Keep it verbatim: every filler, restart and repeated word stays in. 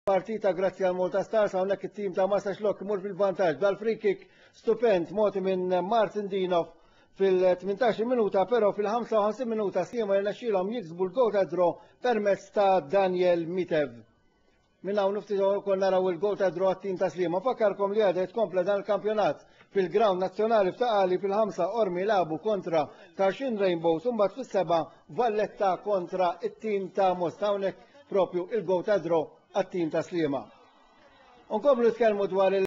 Partita grazzi għal Malta Stars. Hawnhekk it-tim ta' Marsaxlokk imur fil-vantaġġ dal-free kick stupend mogħti minn Martin Dinov fil-tmintax-il minuta, però fil-ħamsa u ħamsin minuta Sliema jirnexxielhom jiksbu l-goal ta' draw permezz ta' Daniel Mitev. Minn hawn ftit konna naraw il-goal ta' draw għat-tim ta' Sliema. Fakkarkom li għada tkompla dan il-kampjonat fil-ground nazzjonali f'Ta' Qali. Fil-ħamsa Qormi lagħbu kontra Tarxien Rainbows, mbagħad fis-seba Valletta kontra it-tim ta' Mosta. Hawnhekk propju il-goal ta' draw għat-tim ta' Sliema. Unkomplu nitkellmu dwar il